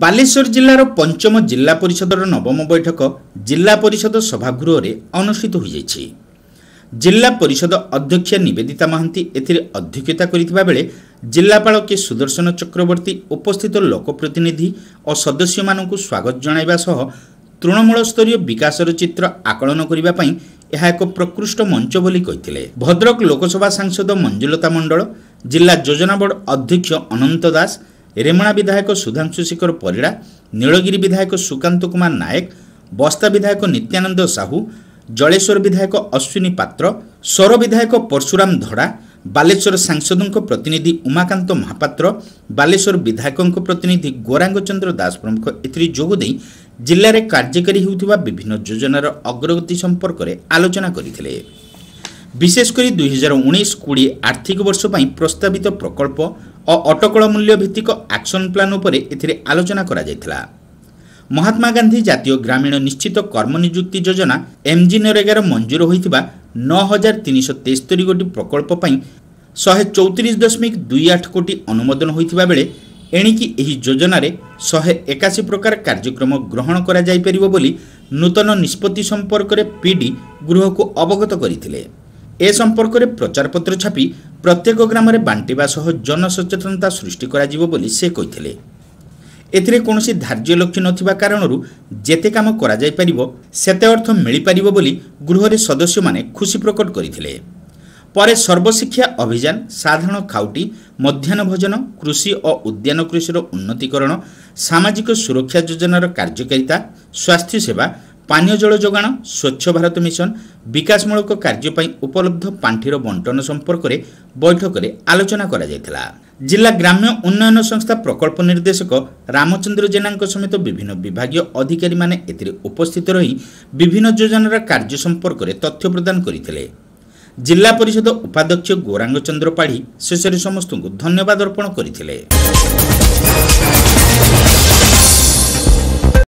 ବାଲେଶ୍ୱର ଜିଲ୍ଲାର ପଞ୍ଚମ ଜିଲ୍ଲା ପରିଷଦର ନବମ ବୈଠକ ଜିଲ୍ଲା ପରିଷଦ ସଭାଗୃହରେ ଅନୁଷ୍ଠିତ ହୋଇଯାଇଛି। ଜିଲ୍ଲା ପରିଷଦ ଅଧ୍ୟକ୍ଷା ନିବେଦିତା ମହାନ୍ତି ଏଥିରେ ଅଧ୍ୟକ୍ଷତା କରିଥିବା ବେଳେ ଜିଲ୍ଲାପାଳ କେ ସୁଦର୍ଶନ ଚକ୍ରବର୍ତ୍ତୀ ଉପସ୍ଥିତ ଲୋକପ୍ରତିନିଧି ଓ ସଦସ୍ୟମାନଙ୍କୁ ସ୍ୱାଗତ ଜଣାଇବା ସହ ତୃଣମୂଳ ସ୍ତରୀୟ ବିକାଶର ଚିତ୍ର ଆକଳନ କରିବା ପାଇଁ ଏହା ଏକ ପ୍ରକୃଷ୍ଟ ମଞ୍ଚ ବୋଲି କହିଥିଲେ। ଭଦ୍ରକ ଲୋକସଭା ସାଂସଦ ମଞ୍ଜୁଲତା ମଣ୍ଡଳ, ଜିଲ୍ଲା ଯୋଜନା ବୋର୍ଡ ଅଧ୍ୟକ୍ଷ ଅନନ୍ତ ଦାସ, ରେମଣା ବିଧାୟକ ସୁଧାଂଶୁ ଶେଖର ପରିଡ଼ା, ନୀଳଗିରି ବିଧାୟକ ସୁକାନ୍ତ କୁମାର ନାୟକ, ବସ୍ତା ବିଧାୟକ ନିତ୍ୟାନନ୍ଦ ସାହୁ, ଜଳେଶ୍ୱର ବିଧାୟକ ଅଶ୍ୱିନୀ ପାତ୍ର, ସୋର ବିଧାୟକ ପରଶୁରାମ ଧଡ଼ା, ବାଲେଶ୍ୱର ସାଂସଦଙ୍କ ପ୍ରତିନିଧି ଉମାକାନ୍ତ ମହାପାତ୍ର, ବାଲେଶ୍ୱର ବିଧାୟକଙ୍କ ପ୍ରତିନିଧି ଗୌରାଙ୍ଗ ଚନ୍ଦ୍ର ଦାସ ପ୍ରମୁଖ ଏଥିରେ ଯୋଗଦେଇ ଜିଲ୍ଲାରେ କାର୍ଯ୍ୟକାରୀ ହେଉଥିବା ବିଭିନ୍ନ ଯୋଜନାର ଅଗ୍ରଗତି ସମ୍ପର୍କରେ ଆଲୋଚନା କରିଥିଲେ। ବିଶେଷ କରି 2019-20 ଆର୍ଥିକ ବର୍ଷ ପାଇଁ ପ୍ରସ୍ତାବିତ ପ୍ରକଳ୍ପ ଓ ଅଟକଳ ମୂଲ୍ୟ ଭିତ୍ତିକ ଆକ୍ସନ୍ ପ୍ଲାନ୍ ଉପରେ ଏଥିରେ ଆଲୋଚନା କରାଯାଇଥିଲା। ମହାତ୍ମା ଗାନ୍ଧୀ ଜାତୀୟ ଗ୍ରାମୀଣ ନିଶ୍ଚିତ କର୍ମନିଯୁକ୍ତି ଯୋଜନା ଏମ୍ଜି ନରେଗାର ମଞ୍ଜୁର ହୋଇଥିବା 9373 ଗୋଟି ପ୍ରକଳ୍ପ ପାଇଁ 134.28 କୋଟି ଅନୁମୋଦନ ହୋଇଥିବା ବେଳେ ଏଣିକି ଏହି ଯୋଜନାରେ 181 ପ୍ରକାର କାର୍ଯ୍ୟକ୍ରମ ଗ୍ରହଣ କରାଯାଇପାରିବ ବୋଲି ନୂତନ ନିଷ୍ପତ୍ତି ସମ୍ପର୍କରେ ପିଡି ଗୃହକୁ ଅବଗତ କରିଥିଲେ। ଏ ସମ୍ପର୍କରେ ପ୍ରଚାରପତ୍ର ଛାପି ପ୍ରତ୍ୟେକ ଗ୍ରାମରେ ବାଣ୍ଟିବା ସହ ଜନସଚେତନତା ସୃଷ୍ଟି କରାଯିବ ବୋଲି ସେ କହିଥିଲେ। ଏଥିରେ କୌଣସି ଧାର୍ଯ୍ୟ ଲକ୍ଷ୍ୟ ନଥିବା କାରଣରୁ ଯେତେ କାମ କରାଯାଇପାରିବ ସେତେ ଅର୍ଥ ମିଳିପାରିବ ବୋଲି ଗୃହରେ ସଦସ୍ୟମାନେ ଖୁସି ପ୍ରକଟ କରିଥିଲେ। ପରେ ସର୍ବଶିକ୍ଷା ଅଭିଯାନ, ସାଧାରଣ ଖାଉଟି, ମଧ୍ୟାହ୍ନ ଭୋଜନ, କୃଷି ଓ ଉଦ୍ୟାନ କୃଷିର ଉନ୍ନତିକରଣ, ସାମାଜିକ ସୁରକ୍ଷା ଯୋଜନାର କାର୍ଯ୍ୟକାରିତା, ସ୍ୱାସ୍ଥ୍ୟସେବା, ପାନୀୟ ଜଳ ଯୋଗାଣ, ସ୍ୱଚ୍ଛ ଭାରତ ମିଶନ, ବିକାଶମୂଳକ କାର୍ଯ୍ୟ ପାଇଁ ଉପଲବ୍ଧ ପାଣ୍ଠିର ବଣ୍ଟନ ସମ୍ପର୍କରେ ବୈଠକରେ ଆଲୋଚନା କରାଯାଇଥିଲା। ଜିଲ୍ଲା ଗ୍ରାମ୍ୟ ଉନ୍ନୟନ ସଂସ୍ଥା ପ୍ରକଳ୍ପ ନିର୍ଦ୍ଦେଶକ ରାମଚନ୍ଦ୍ର ଜେନାଙ୍କ ସମେତ ବିଭିନ୍ନ ବିଭାଗୀୟ ଅଧିକାରୀମାନେ ଏଥିରେ ଉପସ୍ଥିତ ରହି ବିଭିନ୍ନ ଯୋଜନାର କାର୍ଯ୍ୟ ସମ୍ପର୍କରେ ତଥ୍ୟ ପ୍ରଦାନ କରିଥିଲେ। ଜିଲ୍ଲା ପରିଷଦ ଉପାଧ୍ୟକ୍ଷ ଗୌରାଙ୍ଗ ଚନ୍ଦ୍ର ପାଢ଼ୀ ଶେଷରେ ସମସ୍ତଙ୍କୁ ଧନ୍ୟବାଦ ଅର୍ପଣ କରିଥିଲେ।